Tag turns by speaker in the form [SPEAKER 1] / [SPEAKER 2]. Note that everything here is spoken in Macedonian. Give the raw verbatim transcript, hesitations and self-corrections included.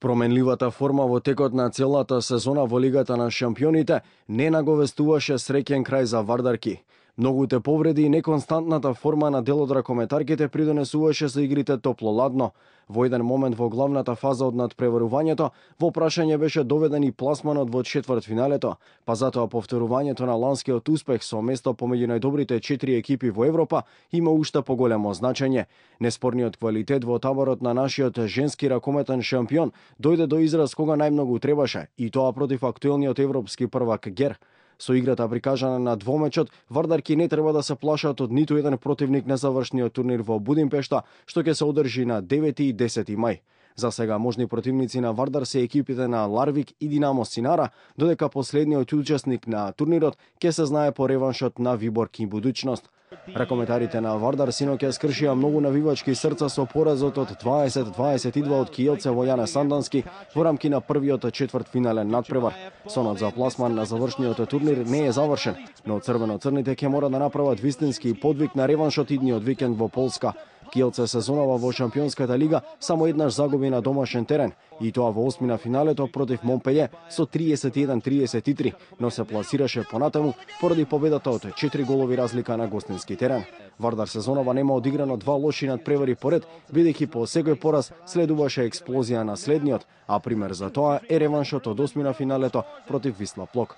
[SPEAKER 1] Променливата форма во текот на целата сезона во Лигата на шампионите не наговестуваше среќен крај за Вардарки. Многуте повреди и неконстантната форма на дел од ракометарките придонесуваше за игрите топло-ладно. Во еден момент во главната фаза од надпреварувањето, во прашање беше доведен и пласманот во четвртфиналето, па затоа повторувањето на ланскиот успех со место помеѓу најдобрите четири екипи во Европа има уште поголемо значење. Неспорниот квалитет во таборот на нашиот женски ракометен шампион дојде до израз кога најмногу требаше, и тоа против актуелниот европски првак Гер. Со играта прикажана на двомечот, Вардарки не треба да се плашат од ниту еден противник на завршниот турнир во Будимпешта, што ќе се одржи на девети и десети мај. За сега можни противници на Вардар се екипите на Ларвик и Динамо Синара, додека последниот учесник на турнирот ќе се знае по реваншот на Виборг и Будуќност. Ракометарите на Вардар синоќа скршија многу навивачки срца со поразот од дваесет дваесет и два од Киелце во Јане Сандански во рамки на првиот четвртфинален надпревар. Сонот за пласман на завршниот турнир не е завршен, но црвено-црните ќе мора да направат вистински подвиг на реваншот идниот викенд во Полска. Киелце сезонава во Шампионската лига само еднаш загуби на домашен терен, и тоа во осмина финалето против Монпеље со триесет и еден триесет и три, но се пласираше понатаму поради победата од четири голови разлика на гостински терен. Вардар сезонава нема одиграно два лоши надпревари поред, бидејќи по секој пораз следуваше експлозија на следниот, а пример за тоа е реваншот од осмина финалето против Висла Плок.